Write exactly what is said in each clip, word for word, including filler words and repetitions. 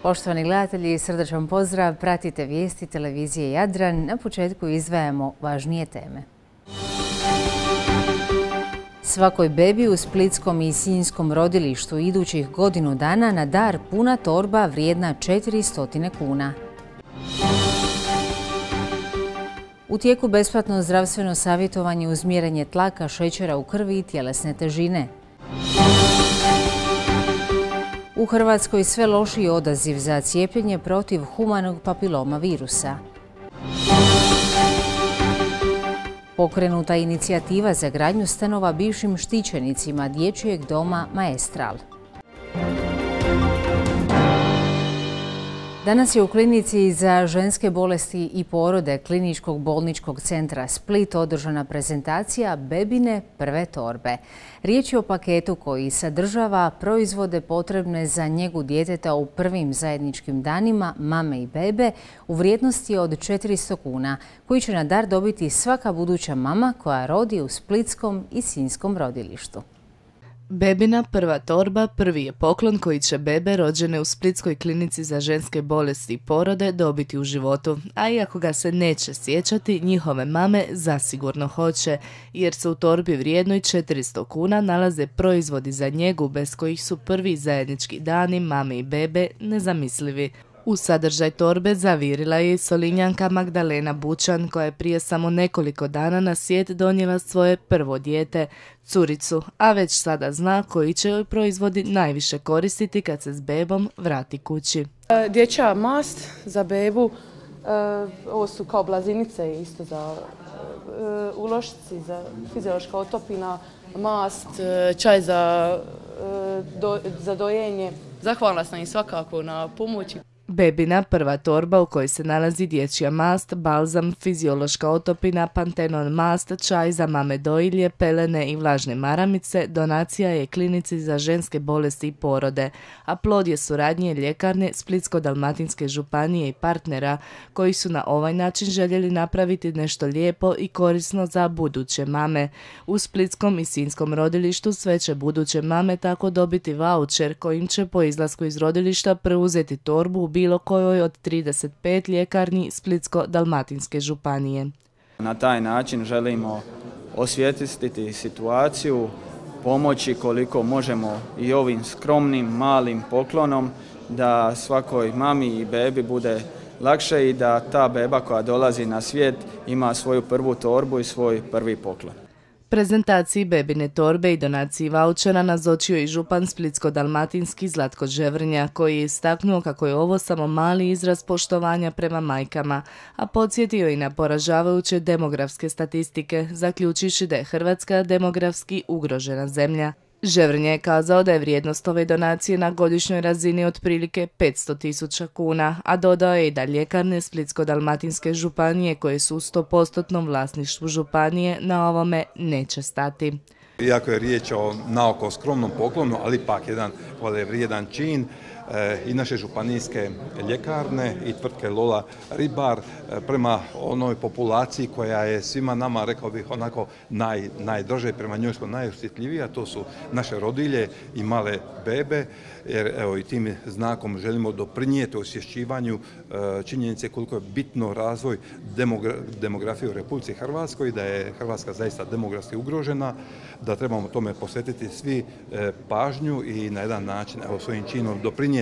Poštovani gledatelji, srdačan pozdrav, pratite vijesti televizije Jadran. Na početku izdvajamo važnije teme. Svakoj bebi u splitskom i sinjskom rodilištu idućih godinu dana na dar puna torba vrijedna četiristo kuna. U tijeku besplatno zdravstveno savjetovanje uz mjerenje tlaka, šećera u krvi i tjelesne težine. U Hrvatskoj sve lošiji odaziv za cijepljenje protiv humanog papiloma virusa. Pokrenuta inicijativa za gradnju stanova bivšim štićenicima dječjeg doma Maestral. Danas je u klinici za ženske bolesti i porode Kliničkog bolničkog centra Split održana prezentacija bebine prve torbe. Riječ je o paketu koji sadržava proizvode potrebne za njegu djeteta u prvim zajedničkim danima mame i bebe u vrijednosti od četiristo kuna, koji će na dar dobiti svaka buduća mama koja rodi u splitskom i sinjskom rodilištu. Bebina prva torba prvi je poklon koji će bebe rođene u Splitskoj klinici za ženske bolesti i porode dobiti u životu, a iako ga se neće sjećati, njihove mame zasigurno hoće, jer se u torbi vrijednoj četiristo kuna nalaze proizvodi za njegu bez kojih su prvi zajednički dani mame i bebe nezamislivi. U sadržaj torbe zavirila je i Solinjanka Magdalena Bučan, koja je prije samo nekoliko dana na svijet donijela svoje prvo dijete, curicu, a već sada zna koji će joj proizvodi najviše koristiti kad se s bebom vrati kući. Dječja mast za bebu, ovo su kao blazinice isto za ulošci, za fiziološka otopina, mast, čaj za, do, za dojenje. Zahvalna sam im svakako na pomoći. Bebina prva torba u kojoj se nalazi dječja mast, balzam, fiziološka otopina, pantenon mast, čaj za mame dojilje, pelene i vlažne maramice donacija je klinici za ženske bolesti i porode, a plod je suradnje ljekarne Splitsko-dalmatinske županije i partnera koji su na ovaj način željeli napraviti nešto lijepo i korisno za buduće mame. U splitskom i sinjskom rodilištu sve će buduće mame tako dobiti vaučer kojim će po izlasku iz rodilišta preuzeti torbu u bilo kojoj od trideset pet ljekarni Splitsko-dalmatinske županije. Na taj način želimo osvijestiti situaciju, pomoći koliko možemo i ovim skromnim malim poklonom da svakoj mami i bebi bude lakše i da ta beba koja dolazi na svijet ima svoju prvu torbu i svoj prvi poklon. Prezentaciji bebine torbe i donaciji vaučera nazočio i župan Splitsko-dalmatinski Zlatko Ževrnja, koji je istaknuo kako je ovo samo mali izraz poštovanja prema majkama, a podsjetio i na poražavajuće demografske statistike, zaključivši da je Hrvatska demografski ugrožena zemlja. Ževrnja je kazao da je vrijednost ove donacije na godišnjoj razini otprilike petsto tisuća kuna, a dodao je i da ljekarne Splitsko-dalmatinske županije koje su u sto postotnom vlasništvu županije na ovome neće stati. Iako je riječ o naoko skromnom poklonu, ali ipak jedan hvale vrijedan čin, i naše županijske ljekarne i tvrtke Lola Ribar prema onoj populaciji koja je svima nama, rekao bih, onako naj, najdraže, prema njoj smo najosjetljivija, to su naše rodilje i male bebe, jer evo i tim znakom želimo doprinijeti osvješćivanju činjenice koliko je bitno razvoj demogra demografije u Republici Hrvatskoj, da je Hrvatska zaista demografski ugrožena, da trebamo tome posvetiti svi pažnju i na jedan način evo svojim činom doprinijeti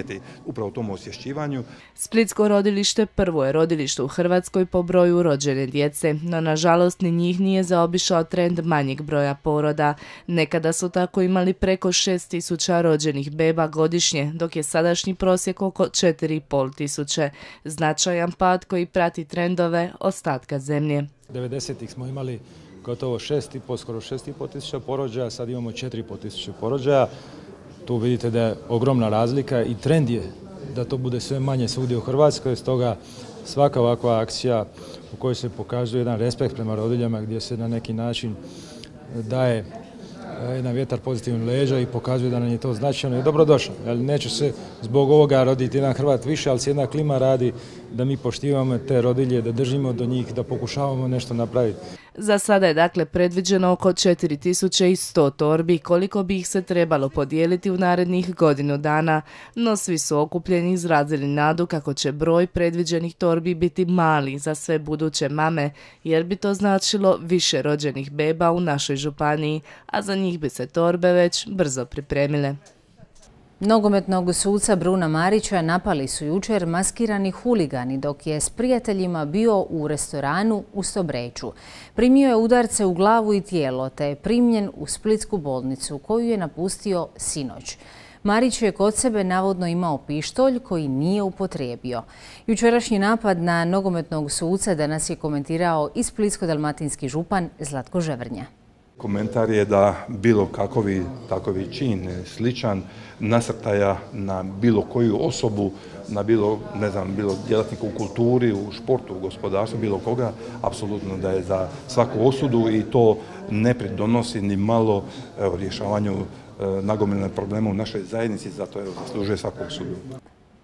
upravo tom osvješćivanju. Splitsko rodilište prvo je rodilište u Hrvatskoj po broju rođene djece, no nažalost ni njih nije zaobišao trend manjeg broja poroda. Nekada su tako imali preko šest tisuća rođenih beba godišnje, dok je sadašnji prosjek oko četiri i pol tisuće. Značajan pad koji prati trendove ostatka zemlje. devedesetih smo imali gotovo šest i pol, skoro šest i pol tisuća porođaja, sad imamo četiri i pol tisuće porođaja. Tu vidite da je ogromna razlika i trend je da to bude sve manje svugdje u Hrvatskoj, stoga svaka ovakva akcija u kojoj se pokazuje jedan respekt prema rodiljama, gdje se na neki način daje jedan vjetar pozitivnih leđa i pokazuje da nam je to značajno i dobrodošlo. Neće se zbog ovoga roditi jedan Hrvat više, ali se jedna klima radi da mi poštivamo te rodilje, da držimo do njih, da pokušavamo nešto napraviti. Za sada je dakle predviđeno oko četiri tisuće sto torbi, koliko bi ih se trebalo podijeliti u narednih godinu dana, no svi su okupljeni izrazili nadu kako će broj predviđenih torbi biti mali za sve buduće mame, jer bi to značilo više rođenih beba u našoj županiji, a za njih bi se torbe već brzo pripremile. Nogometnog suca Bruna Marića napali su jučer maskirani huligani dok je s prijateljima bio u restoranu u Stobreću. Primio je udarce u glavu i tijelo te je primljen u splitsku bolnicu koju je napustio sinoć. Marić je kod sebe navodno imao pištolj koji nije upotrijebio. Jučerašnji napad na nogometnog suca danas je komentirao i splitsko-dalmatinski župan Zlatko Ževrnja. Komentar je da bilo kakovi takovi čin sličan nasrtaja na bilo koju osobu, na bilo, ne znam, bilo djelatnika u kulturi, u športu, u gospodarstvu, bilo koga, apsolutno da je za svaku osudu i to ne pridonosi ni malo evo, rješavanju e, nagomilanih problema u našoj zajednici, zato evo, zaslužuje svaku osudu.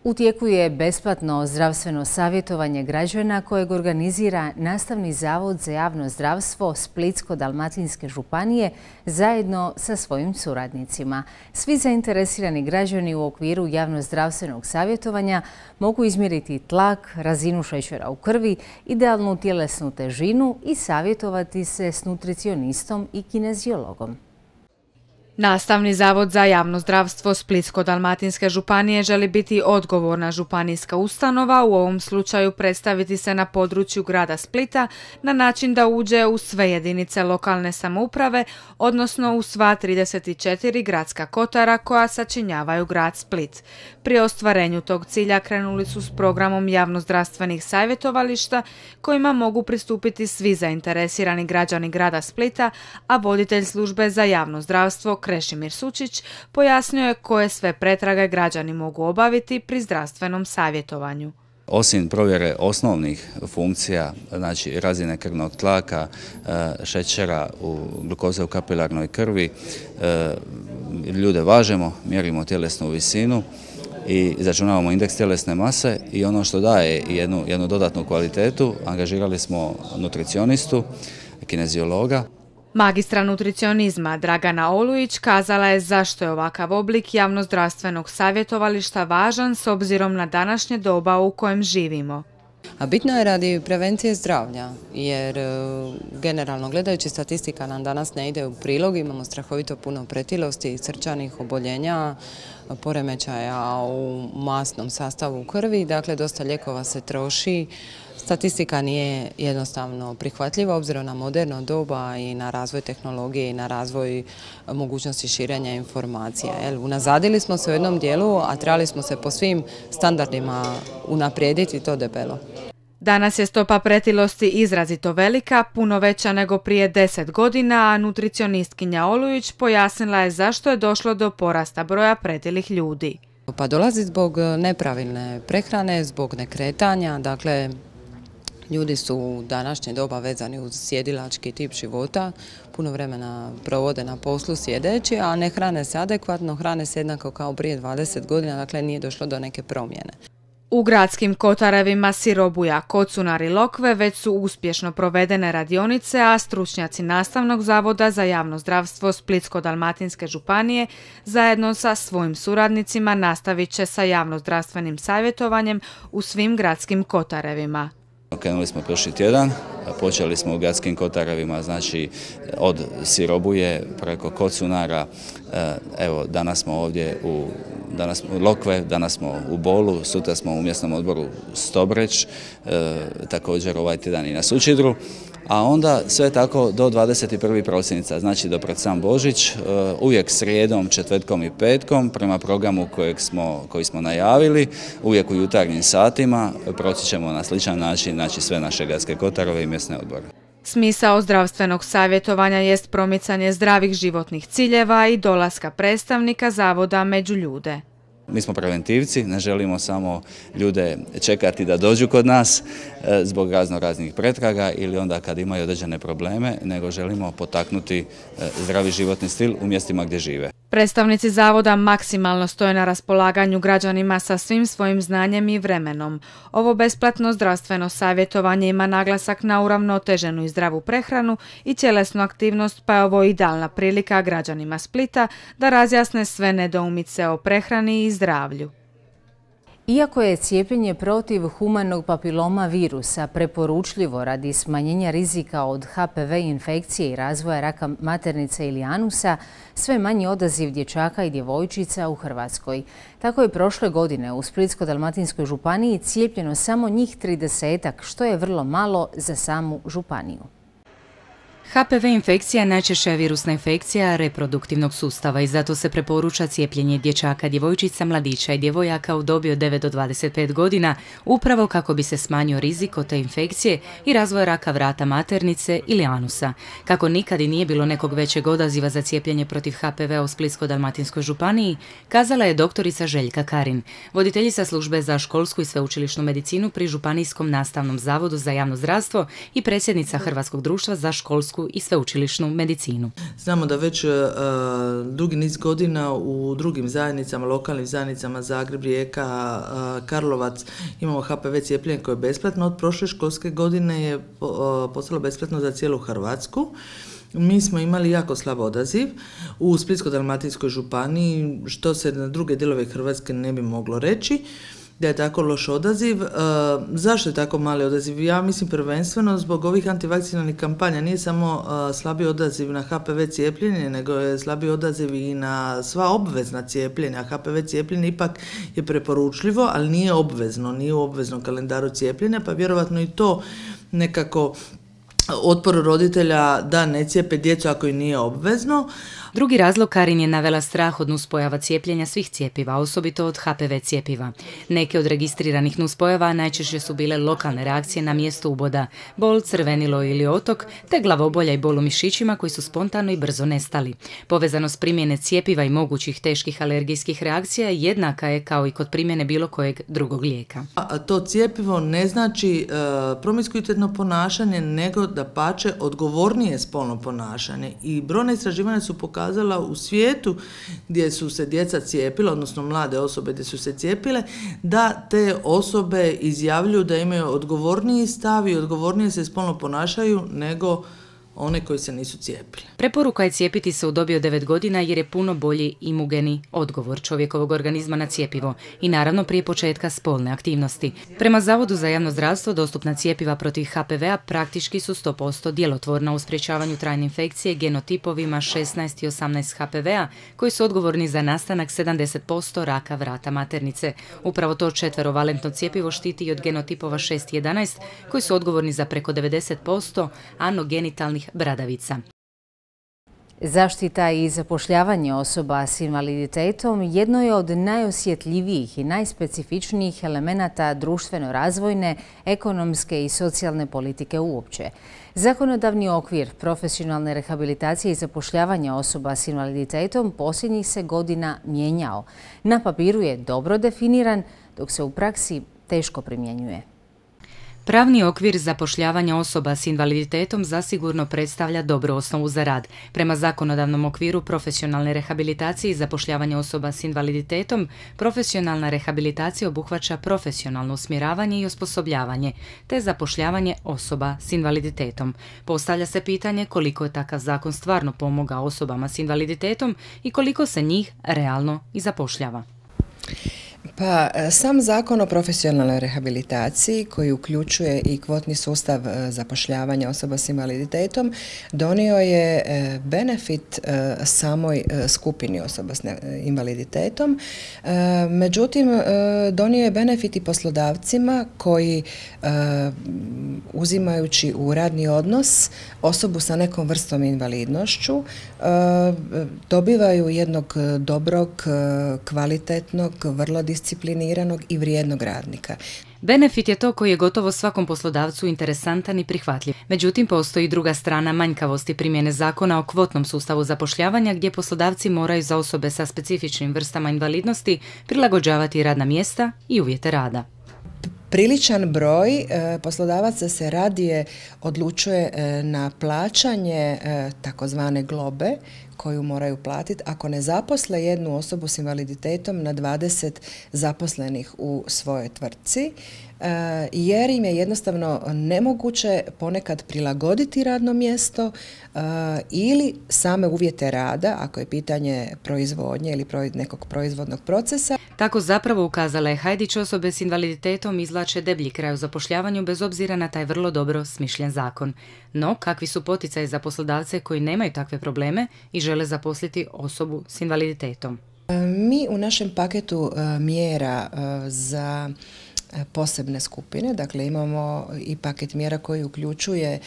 U tijeku je besplatno zdravstveno savjetovanje građana kojeg organizira Nastavni zavod za javno zdravstvo Splitsko-dalmatinske županije zajedno sa svojim suradnicima. Svi zainteresirani građani u okviru javnozdravstvenog savjetovanja mogu izmjeriti tlak, razinu šećera u krvi, idealnu tjelesnu težinu i savjetovati se s nutricionistom i kineziologom. Nastavni zavod za javno zdravstvo Splitsko-dalmatinske županije želi biti odgovorna županijska ustanova, u ovom slučaju predstaviti se na području grada Splita na način da uđe u sve jedinice lokalne samouprave, odnosno u sva trideset četiri gradska kotara koja sačinjavaju grad Split. Pri ostvarenju tog cilja krenuli su s programom javnozdravstvenih savjetovališta kojima mogu pristupiti svi zainteresirani građani grada Splita, a voditelj službe za javno zdravstvo Krešimir Sučić pojasnio je koje sve pretrage građani mogu obaviti pri zdravstvenom savjetovanju. Osim provjere osnovnih funkcija, znači razine krvnog tlaka, šećera, glukoze u kapilarnoj krvi, ljude važemo, mjerimo tjelesnu visinu i izračunavamo indeks tjelesne mase i ono što daje jednu, jednu dodatnu kvalitetu, angažirali smo nutricionistu, kineziologa. Magistra nutricionizma Dragana Olujić kazala je zašto je ovakav oblik javnozdravstvenog savjetovališta važan s obzirom na današnje doba u kojem živimo. A bitno je radi prevencije zdravlja, jer generalno gledajući statistika nam danas ne ide u prilog, imamo strahovito puno pretilosti, srčanih oboljenja, poremećaja u masnom sastavu krvi, dakle dosta lijekova se troši. Statistika nije jednostavno prihvatljiva obzirom na moderno doba i na razvoj tehnologije i na razvoj mogućnosti širenja informacija. Unazadili smo se u jednom dijelu, a trebali smo se po svim standardima unaprijediti to debelo. Danas je stopa pretilosti izrazito velika, puno veća nego prije deset godina, a nutricionistkinja Olujić pojasnila je zašto je došlo do porasta broja pretilih ljudi. Pa dolazi zbog nepravilne prehrane, zbog nekretanja, dakle ljudi su u današnje doba vezani uz sjedilački tip života, puno vremena provode na poslu sjedeći, a ne hrane se adekvatno, hrane se jednako kao prije dvadeset godina, dakle nije došlo do neke promjene. U gradskim kotarevima Sirobuja, Kocunar i Lokve već su uspješno provedene radionice, a stručnjaci Nastavnog zavoda za javno zdravstvo Splitsko-dalmatinske županije zajedno sa svojim suradnicima nastavit će sa javnozdravstvenim savjetovanjem u svim gradskim kotarevima. Krenuli smo prošli tjedan, počeli smo u gradskim kotarevima, znači od Sirobuje preko Kocunara, evo danas smo ovdje u danas u Lokve, danas smo u Bolu, sutra smo u mjesnom odboru Stobreć, također ovaj tjedan i na Sučidru, a onda sve tako do dvadeset prvog prosinca, znači do pred sam Božić, uvijek srijedom, četvrtkom i petkom, prema programu kojeg smo, koji smo najavili, uvijek u jutarnjim satima, proći ćemo na sličan način, znači sve naše gradske kotarove i mjesne odbore. Smisao zdravstvenog savjetovanja jest promicanje zdravih životnih ciljeva i dolaska predstavnika zavoda među ljude. Mi smo preventivci, ne želimo samo ljude čekati da dođu kod nas zbog razno raznih pretraga ili onda kad imaju određene probleme, nego želimo potaknuti zdravi životni stil u mjestima gdje žive. Predstavnici zavoda maksimalno stoje na raspolaganju građanima sa svim svojim znanjem i vremenom. Ovo besplatno zdravstveno savjetovanje ima naglasak na uravnoteženu i zdravu prehranu i tjelesnu aktivnost, pa je ovo idealna prilika građanima Splita da razjasne sve nedoumice o prehrani i zdravlju. Iako je cijepljenje protiv humanog papiloma virusa preporučljivo radi smanjenja rizika od H P V infekcije i razvoja raka maternice ili anusa, sve manji odaziv dječaka i djevojčica u Hrvatskoj. Tako je prošle godine u Splitsko-dalmatinskoj županiji cijepljeno samo njih tridesetak, što je vrlo malo za samu županiju. H P V infekcija je najčešća virusna infekcija reproduktivnog sustava i zato se preporuča cijepljenje dječaka, djevojčica, mladića i djevojaka u dobi od devet do dvadeset pet godina, upravo kako bi se smanjio rizik od te infekcije i razvoja raka vrata maternice ili anusa. Kako nikad i nije bilo nekog većeg odaziva za cijepljenje protiv H P V u Splitsko-dalmatinskoj županiji, kazala je doktorica Željka Karin, voditeljica službe za školsku i sveučilišnu medicinu pri Županijskom nastavnom zavodu za javno zdravstvo i predsjednica Hrvatskog društva za školsku i sveučilišnu medicinu. Znamo da već uh, dugi niz godina u drugim zajednicama, lokalnim zajednicama Zagreb, Rijeka, uh, Karlovac imamo H P V cijepljenje koje je besplatno. Od prošle školske godine je uh, postalo besplatno za cijelu Hrvatsku. Mi smo imali jako slab odaziv u Splitsko-dalmatinskoj županiji, što se na druge dijelove Hrvatske ne bi moglo reći da je tako loš odaziv. E, zašto je tako mali odaziv? Ja mislim prvenstveno zbog ovih antivakcinalnih kampanja. Nije samo e, slabi odaziv na H P V cijepljenje, nego je slabi odaziv i na sva obvezna cijepljenja. H P V cijepljenje ipak je preporučljivo, ali nije obvezno, nije u obveznom kalendaru cijepljenja, pa vjerovatno i to nekako otpor roditelja da ne cijepe djecu ako i nije obvezno. Drugi razlog Karin je navela strah od nuspojava cijepljenja svih cjepiva, osobito od H P V cjepiva. Neke od registriranih nuspojava najčešće su bile lokalne reakcije na mjesto uboda, bol, crvenilo ili otok, te glavobolja i bol u mišićima koji su spontano i brzo nestali. Povezanost primjene cjepiva i mogućih teških alergijskih reakcija jednaka je kao i kod primjene bilo kojeg drugog lijeka. A to cjepivo ne znači uh, promiskuitetno ponašanje, nego da pače odgovornije spolno ponašanje. I brojna istraživanja su pokazala u svijetu gdje su se djeca cijepila, odnosno mlade osobe gdje su se cijepile, da te osobe izjavljuju da imaju odgovorniji stav i odgovornije se spolno ponašaju nego one koji se nisu cijepile. Preporuka je cijepiti se u dobi od devet godina jer je puno bolji imugeni odgovor čovjekovog organizma na cjepivo i naravno prije početka spolne aktivnosti. Prema Zavodu za javno zdravstvo dostupna cjepiva protiv H P V-a praktički su sto posto djelotvorna u sprječavanju trajne infekcije genotipovima šesnaest i osamnaest H P V-a koji su odgovorni za nastanak sedamdeset posto raka vrata maternice. Upravo to četverovalentno cjepivo štiti i od genotipova šest i jedanaest koji su odgovorni za preko devedeset posto anogenitalnih bradavica. Zaštita i zapošljavanje osoba s invaliditetom jedno je od najosjetljivijih i najspecifičnijih elemenata društveno-razvojne, ekonomske i socijalne politike uopće. Zakonodavni okvir profesionalne rehabilitacije i zapošljavanja osoba s invaliditetom posljednjih se godina mijenjao. Na papiru je dobro definiran, dok se u praksi teško primjenjuje. Pravni okvir zapošljavanja osoba s invaliditetom zasigurno predstavlja dobru osnovu za rad. Prema zakonodavnom okviru profesionalne rehabilitacije i zapošljavanja osoba s invaliditetom, profesionalna rehabilitacija obuhvaća profesionalno usmjeravanje i osposobljavanje, te zapošljavanje osoba s invaliditetom. Postavlja se pitanje koliko je takav zakon stvarno pomogao osobama s invaliditetom i koliko se njih realno i zapošljava. Pa sam zakon o profesionalnoj rehabilitaciji koji uključuje i kvotni sustav zapošljavanja osoba s invaliditetom donio je benefit samoj skupini osoba s invaliditetom. Međutim, donio je benefit i poslodavcima koji uzimajući u radni odnos osobu sa nekom vrstom invalidnošću dobivaju jednog dobrog, kvalitetnog, vrlo discipliniranog i vrijednog radnika. Benefit je to koji je gotovo svakom poslodavcu interesantan i prihvatljiv. Međutim, postoji druga strana manjkavosti primjene zakona o kvotnom sustavu zapošljavanja gdje poslodavci moraju za osobe sa specifičnim vrstama invalidnosti prilagođavati radna mjesta i uvjete rada. Priličan broj poslodavaca se radije odlučuje na plaćanje takozvane globe koju moraju platiti ako ne zaposle jednu osobu s invaliditetom na dvadeset zaposlenih u svojoj tvrtci, jer im je jednostavno nemoguće ponekad prilagoditi radno mjesto ili same uvjete rada, ako je pitanje proizvodnje ili nekog proizvodnog procesa. Tako zapravo, ukazala je Hajdić, osobe s invaliditetom izvlače deblji kraj u zapošljavanju bez obzira na taj vrlo dobro smišljen zakon. No, kakvi su poticaji za poslodavce koji nemaju takve probleme i žele zaposliti osobu s invaliditetom? Mi u našem paketu mjera za posebne skupine, dakle imamo i paket mjera koji uključuje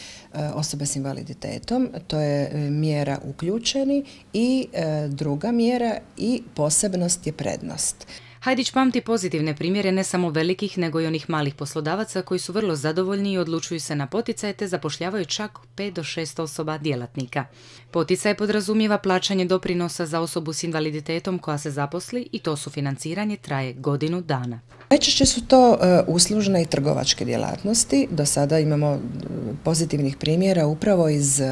osobe s invaliditetom, to je mjera uključeni i druga mjera i posebnost je prednost. Hajdić pamti pozitivne primjere ne samo velikih, nego i onih malih poslodavaca koji su vrlo zadovoljni i odlučuju se na poticaje te zapošljavaju čak pet do šest osoba djelatnika. Poticaj podrazumijeva plaćanje doprinosa za osobu s invaliditetom koja se zaposli i to sufinanciranje traje godinu dana. Najčešće su to uh, uslužne i trgovačke djelatnosti. Do sada imamo pozitivnih primjera upravo iz uh,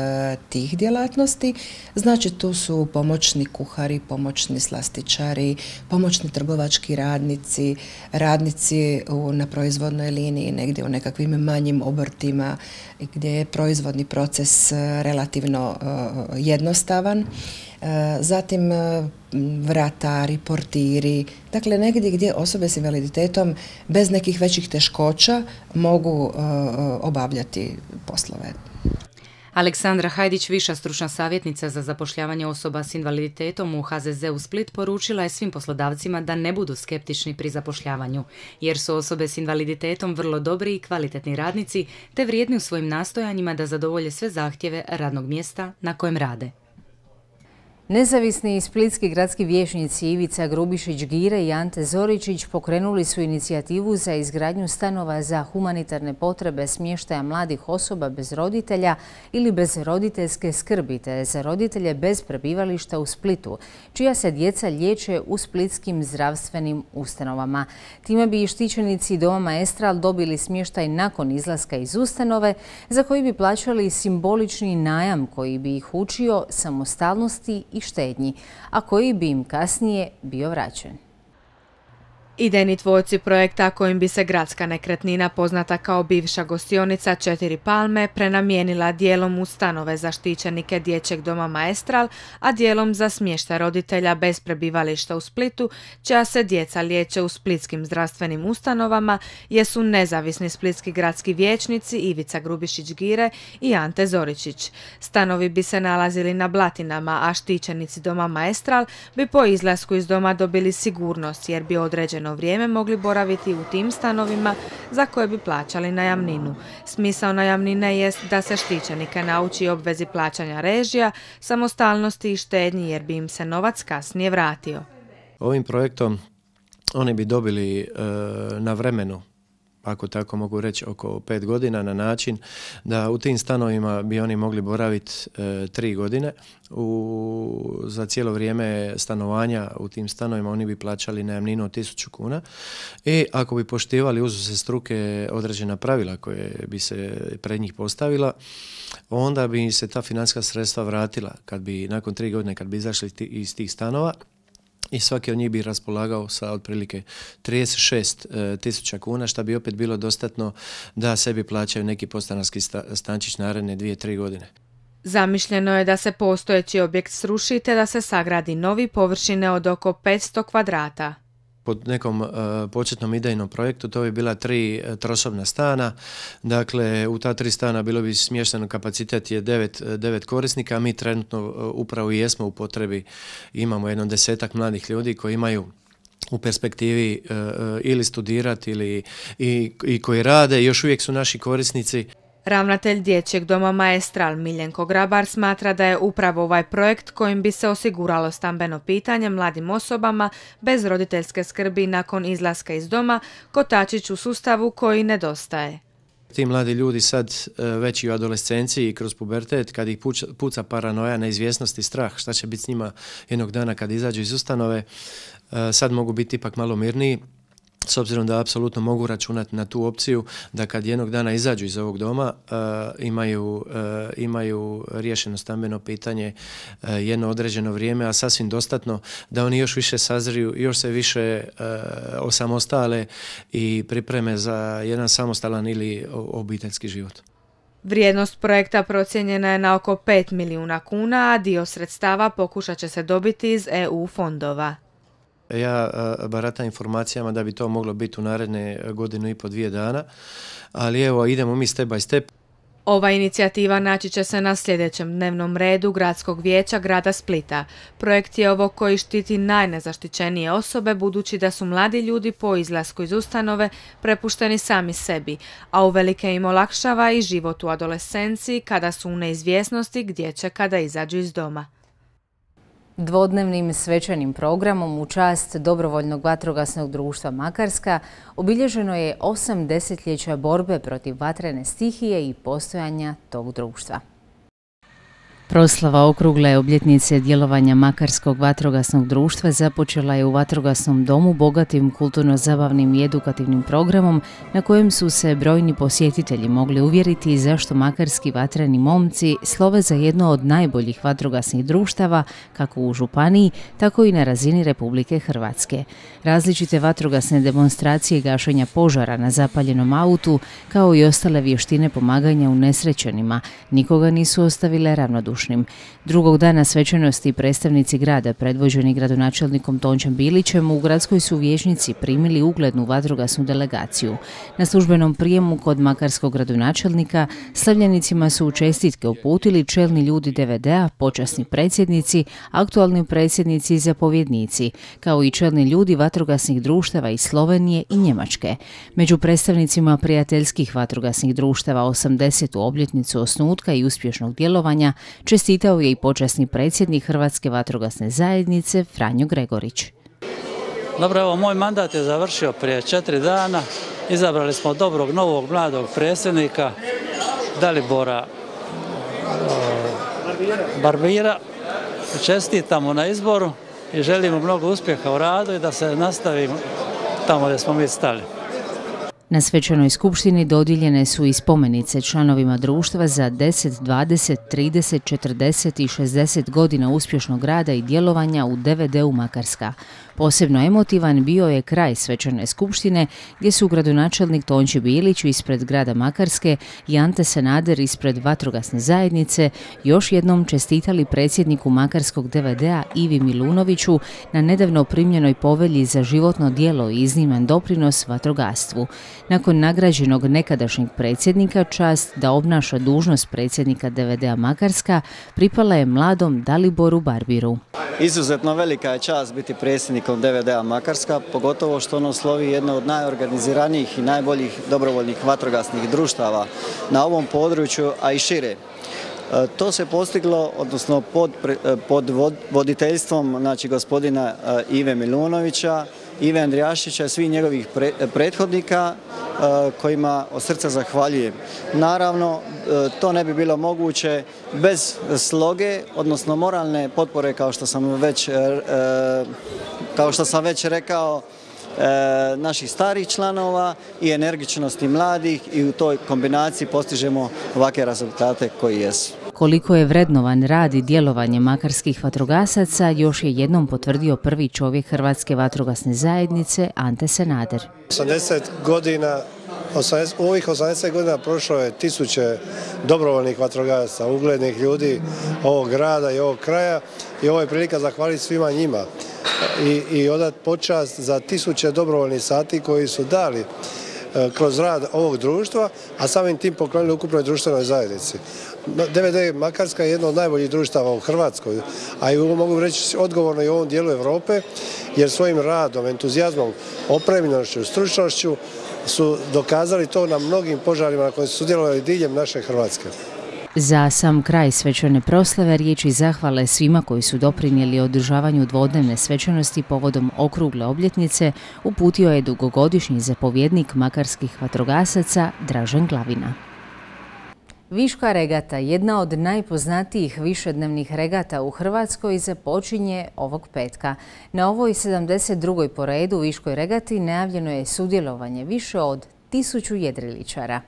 tih djelatnosti. Znači tu su pomoćni kuhari, pomoćni slastičari, pomoćni trgovački radnici, radnici u, na proizvodnoj liniji, negdje u nekakvim manjim obrtima gdje je proizvodni proces uh, relativno uh, jednostavan. Uh, zatim uh, vratari, portiri, dakle negdje gdje osobe s invaliditetom bez nekih većih teškoća mogu uh, obavljati poslove. Aleksandra Hajdić, viša stručna savjetnica za zapošljavanje osoba s invaliditetom u H Z Z u Split, poručila je svim poslodavcima da ne budu skeptični pri zapošljavanju, jer su osobe s invaliditetom vrlo dobri i kvalitetni radnici, te vrijedni u svojim nastojanjima da zadovolje sve zahtjeve radnog mjesta na kojem rade. Nezavisni splitski gradski vijećnici Ivica Grubišić-Gire i Ante Zoričić pokrenuli su inicijativu za izgradnju stanova za humanitarne potrebe smještaja mladih osoba bez roditelja ili bez roditeljske skrbi, te za roditelje bez prebivališta u Splitu, čija se djeca liječe u splitskim zdravstvenim ustanovama. Time bi i štićenici Doma Maestral dobili smještaj nakon izlaska iz ustanove, za koji bi plaćali simbolični najam koji bi ih učio samostalnosti i štednji, a koji bi im kasnije bio vraćen. Idejni tvorci projekta kojim bi se gradska nekretnina poznata kao bivša gostionica Četiri palme prenamijenila dijelom u stanove za štićenike Dječjeg doma Maestral, a dijelom za smještaj roditelja bez prebivališta u Splitu, čija se djeca liječe u splitskim zdravstvenim ustanovama, jesu nezavisni splitski gradski vijećnici Ivica Grubišić-Gire i Ante Zoričić. Stanovi bi se nalazili na Blatinama, a štićenici Doma Maestral bi po izlasku iz doma dobili sigurnost jer bi određeno vrijeme mogli boraviti u tim stanovima za koje bi plaćali najamninu. Smisao najamnine jest da se štićenike nauči obvezi plaćanja režija, samostalnosti i štednji jer bi im se novac kasnije vratio. Ovim projektom oni bi dobili e, na vremenu, ako tako mogu reći, oko pet godina, na način da u tim stanovima bi oni mogli boraviti e, tri godine. U, za cijelo vrijeme stanovanja u tim stanovima oni bi plaćali najamninu od tisuću kuna i ako bi poštivali uzuse struke određena pravila koje bi se pred njih postavila, onda bi se ta financijska sredstva vratila kad bi nakon tri godine kad bi izašli iz tih stanova. I svaki od njih bi raspolagao sa otprilike trideset šest tisuća kuna, što bi opet bilo dostatno da sebi plaćaju neki podstanarski stančić naredne dvije, tri godine. Zamišljeno je da se postojeći objekt sruši te da se sagradi novi površine od oko petsto kvadrata. Pod nekom uh, početnom idejnom projektu to bi bila tri uh, trosobna stana, dakle u ta tri stana bilo bi smješteno kapacitet je devet, devet korisnika, a mi trenutno uh, upravo i jesmo u potrebi, imamo jedno desetak mladih ljudi koji imaju u perspektivi uh, ili studirati ili i, i koji rade, još uvijek su naši korisnici. Ravnatelj Dječjeg doma Maestral Miljenko Grabar smatra da je upravo ovaj projekt kojim bi se osiguralo stambeno pitanje mladim osobama bez roditeljske skrbi nakon izlaska iz doma kotačić u sustavu koji nedostaje. Ti mladi ljudi sad već i u adolescenciji i kroz pubertet, kad ih puca, puca paranoja, neizvjesnost i strah, šta će biti s njima jednog dana kad izađu iz ustanove, sad mogu biti ipak malo mirniji. s obzirom da apsolutno mogu računati na tu opciju da kad jednog dana izađu iz ovog doma uh, imaju, uh, imaju riješeno stambeno pitanje uh, jedno određeno vrijeme, a sasvim dostatno da oni još više sazriju, još se više uh, osamostale i pripreme za jedan samostalan ili obiteljski život. Vrijednost projekta procijenjena je na oko pet milijuna kuna, a dio sredstava pokušat će se dobiti iz E U fondova. Ja baratam informacijama da bi to moglo biti u naredne godinu i po dvije dana, ali evo idemo mi step by step. Ova inicijativa naći će se na sljedećem dnevnom redu Gradskog vijeća grada Splita. Projekt je ovo koji štiti najnezaštićenije osobe, budući da su mladi ljudi po izlasku iz ustanove prepušteni sami sebi, a uvelike im olakšava i život u adolescenciji kada su u neizvjesnosti gdje će kada izađu iz doma. Dvodnevnim svečanim programom u čast Dobrovoljnog vatrogasnog društva Makarska obilježeno je osam desetljeća borbe protiv vatrene stihije i postojanja tog društva. Proslava okrugle obljetnice djelovanja Makarskog vatrogasnog društva započela je u vatrogasnom domu bogatim kulturno-zabavnim i edukativnim programom na kojem su se brojni posjetitelji mogli uvjeriti zašto makarski vatreni momci slove za jedno od najboljih vatrogasnih društava kako u županiji, tako i na razini Republike Hrvatske. Različite vatrogasne demonstracije gašenja požara na zapaljenom autu, kao i ostale vještine pomaganja unesrećenima, nikoga nisu ostavile ravnodušnim. Drugog dana svečanosti predstavnici grada, predvođeni gradonačelnikom Tončem Bilićem, u gradskoj su vijećnici primili uglednu vatrogasnu delegaciju. Na službenom prijemu kod makarskog gradonačelnika slavljenicima su čestitke uputili čelni ljudi D V D-a, počasni predsjednici, aktualni predsjednici i zapovjednici, kao i čelni ljudi vatrogasnih društava iz Slovenije i Njemačke. Među predstavnicima prijateljskih vatrogasnih društava osamdesetu obljetnicu osnutka i uspješnog djelovanja čestitao je i počasni predsjednik Hrvatske vatrogasne zajednice Franjo Gregorić. Dobro, evo, moj mandat je završio prije četiri dana. Izabrali smo dobrog, novog, mladog predsjednika Dalibora Barbira. Čestitamo na izboru i želimo mnogo uspjeha u radu i da se nastavi tamo gdje smo mi stali. Na svečanoj skupštini dodijeljene su i spomenice članovima društva za deset, dvadeset, trideset, četrdeset i šezdeset godina uspješnog rada i djelovanja u D V D-u Makarska. Posebno emotivan bio je kraj svečane skupštine gdje su gradonačelnik Tonči Bilić ispred grada Makarske i Ante Sanader ispred vatrogasne zajednice još jednom čestitali predsjedniku Makarskog D V D-a Ivi Milunoviću na nedavno primljenoj povelji za životno djelo i izniman doprinos vatrogasstvu. Nakon nagrađenog nekadašnjeg predsjednika, čast da obnaša dužnost predsjednika D V D-a Makarska pripala je mladom Daliboru Barbiru. Izuzetno velika je čast biti predsjednikom D V D-a Makarska, pogotovo što ono slovi jedno od najorganiziranijih i najboljih dobrovoljnih vatrogasnih društava na ovom području, a i šire. To se postiglo, odnosno pod, pod voditeljstvom znači, gospodina Ive Milunovića, Ive Andrijašića i svih njegovih pre, prethodnika kojima od srca zahvaljujem. Naravno, to ne bi bilo moguće bez sloge, odnosno moralne potpore, kao što sam već, kao što sam već rekao, naših starih članova i energičnosti mladih, i u toj kombinaciji postižemo ovakve rezultate koji jesu. Koliko je vrednovan rad i djelovanje makarskih vatrogasaca još je jednom potvrdio prvi čovjek Hrvatske vatrogasne zajednice Ante Sanader. osamdeset godina, osamdeset, u ovih osamdeset godina prošlo je tisuće dobrovoljnih vatrogasaca, uglednih ljudi ovog grada i ovog kraja, i ovo je prilika zahvaliti svima njima i, i odati počast za tisuće dobrovoljnih sati koji su dali kroz rad ovog društva, a samim tim poklonili ukupnoj društvenoj zajednici. D V D Makarska je jedno od najboljih društava u Hrvatskoj, a i mogu reći odgovorno i u ovom dijelu Europe, jer svojim radom, entuzijazmom, opremljenošću, stručnošću su dokazali to na mnogim požarima na kojim su sudjelovali diljem naše Hrvatske. Za sam kraj svečane proslave riječi zahvale svima koji su doprinijeli održavanju dvodnevne svečanosti povodom okrugle obljetnice uputio je dugogodišnji zapovjednik makarskih vatrogasaca Dražen Glavina. Viška regata, jedna od najpoznatijih višednevnih regata u Hrvatskoj, započinje ovog petka. Na ovoj sedamdeset drugoj po redu Viškoj regati najavljeno je sudjelovanje više od tisuću jedriličara.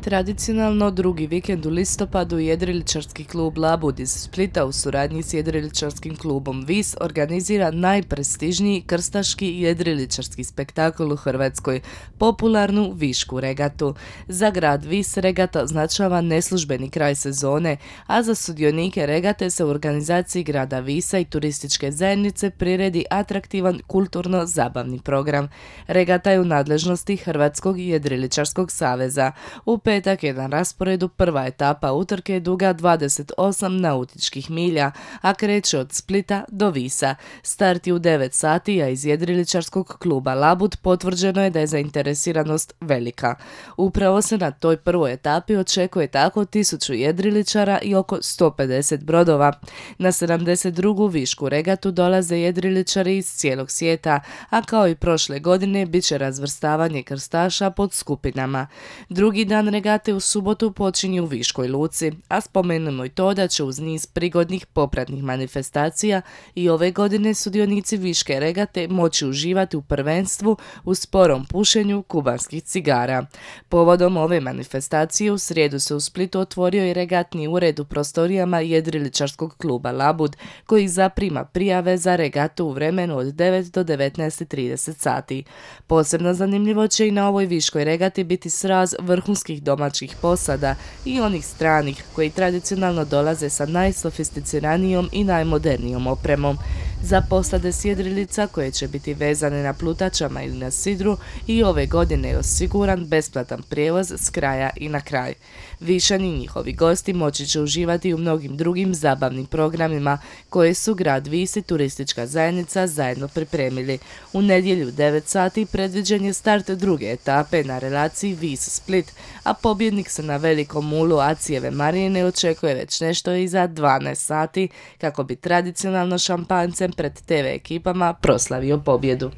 Tradicionalno drugi vikend u listopadu jedriličarski klub Labud iz Splita u suradnji s jedriličarskim klubom Vis organizira najprestižniji krstaški jedriličarski spektakl u Hrvatskoj, popularnu Višku regatu. Za grad Vis regata označava neslužbeni kraj sezone, a za sudionike regate se u organizaciji grada Visa i turističke zajednice priredi atraktivan kulturno-zabavni program. Regata je u nadležnosti Hrvatskog jedriličarskog saveza. U petak je na rasporedu prva etapa utrke duga dvadeset osam nautičkih milja, a kreće od Splita do Visa. Start je u devet sati, a iz jedriličarskog kluba Labud potvrđeno je da je zainteresiranost velika. Upravo se na toj prvoj etapi očekuje tako tisuću jedriličara i oko sto pedeset brodova. Na sedamdeset drugu Višku regatu dolaze jedriličari iz cijelog svijeta, a kao i prošle godine bit će razvrstavanje krstaša pod skupinama. Drugi dan regate u subotu počinje u Viškoj luci, a spomenemo i to da će uz niz prigodnih popratnih manifestacija i ove godine sudionici Viške regate moći uživati u prvenstvu u sporom pušenju kubanskih cigara. Povodom ove manifestacije u srijedu se u Splitu otvorio i regatni ured u prostorijama jedriličarskog kluba Labud, koji zaprima prijave za regatu u vremenu od devet do devetnaest trideset sati. Posebno zanimljivo će i na ovoj Viškoj regati biti sraz vrhunskih domaćih posada i onih stranih koji tradicionalno dolaze sa najsofisticiranijom i najmodernijom opremom. Za posade s jedrilica koje će biti vezane na plutačama ili na sidru i ove godine je osiguran besplatan prijevoz s kraja i na kraj. Višani i njihovi gosti moći će uživati u mnogim drugim zabavnim programima koje su grad Vis i turistička zajednica zajedno pripremili. U nedjelju devet sati predviđen je start druge etape na relaciji Vis-Split, a pobjednik se na velikom mulu Acijeve Marine očekuje već nešto iza dvanaest sati kako bi tradicionalno šampanjcem pred te ve ekipama proslavio pobjedu.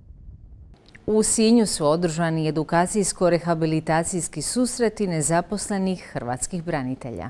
U Sinju su održani edukacijsko-rehabilitacijski susreti nezaposlenih hrvatskih branitelja.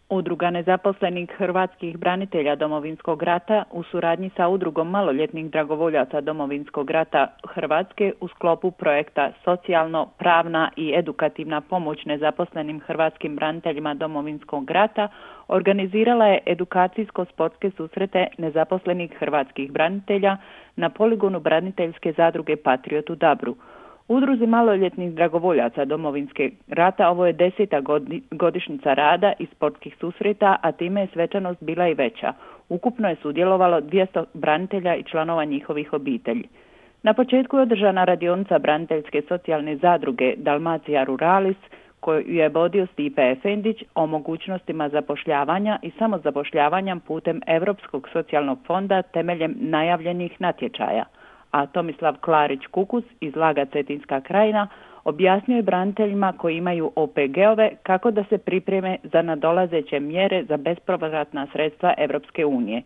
Udruga nezaposlenih hrvatskih branitelja Domovinskog rata u suradnji sa Udrugom maloljetnih dragovoljaca Domovinskog rata Hrvatske u sklopu projekta Socijalno, pravna i edukativna pomoć nezaposlenim hrvatskim braniteljima Domovinskog rata organizirala je edukacijsko-sportske susrete nezaposlenih hrvatskih branitelja na poligonu braniteljske zadruge Patriot u Dabru. Udruzi maloljetnih dragovoljaca Domovinske rata ovo je deseta godišnjica rada i sportskih susreta, a time je svečanost bila i veća. Ukupno je sudjelovalo dvjesto branitelja i članova njihovih obitelji. Na početku je održana radionica braniteljske socijalne zadruge Dalmacija Ruralis, koju je vodio Stipe Efendić, o mogućnostima zapošljavanja i samozapošljavanja putem Europskog socijalnog fonda temeljem najavljenih natječaja. A Tomislav Klarić-Kukus iz Laga Cetinska krajina objasnio je braniteljima koji imaju o pe ge-ove kako da se pripreme za nadolazeće mjere za bespovratna sredstva Europske unije.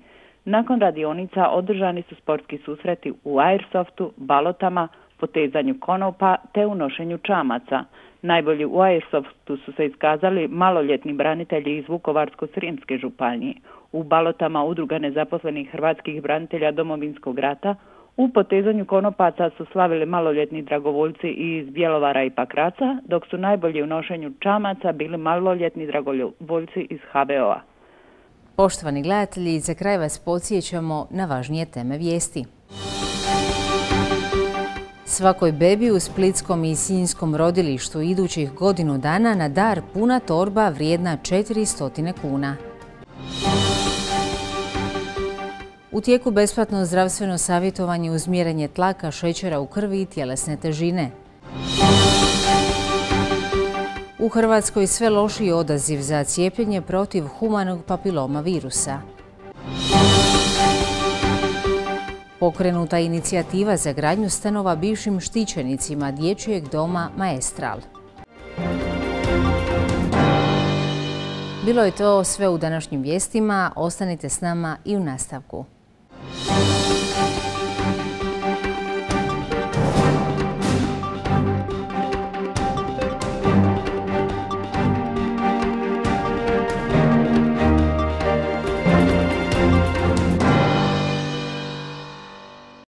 Nakon radionica održani su sportski susreti u aersoftu, balotama, potezanju konopa te u nošenju čamaca. Najbolji u aersoftu su se iskazali maloljetni branitelji iz Vukovarsko-srijemske županije. U balotama Udruga nezaposlenih hrvatskih branitelja Domovinskog rata u potezanju konopaca su slavili maloljetni dragovoljci iz Bjelovara i Pakraca, dok su najbolji u nošenju čamaca bili maloljetni dragovoljci iz ha be o-a. Poštovani gledatelji, za kraj vas podsjećamo na važnije teme vijesti. Svakoj bebi u splitskom i sinjskom rodilištu idućih godinu dana na dar puna torba vrijedna četiristo kuna. U tijeku besplatno zdravstveno savjetovanje uz mjerenje tlaka, šećera u krvi i tjelesne težine. U Hrvatskoj sve lošiji odaziv za cijepljenje protiv humanog papiloma virusa. Pokrenuta je inicijativa za gradnju stanova bivšim štićenicima dječjeg doma Maestral. Bilo je to sve u današnjim vijestima. Ostanite s nama i u nastavku.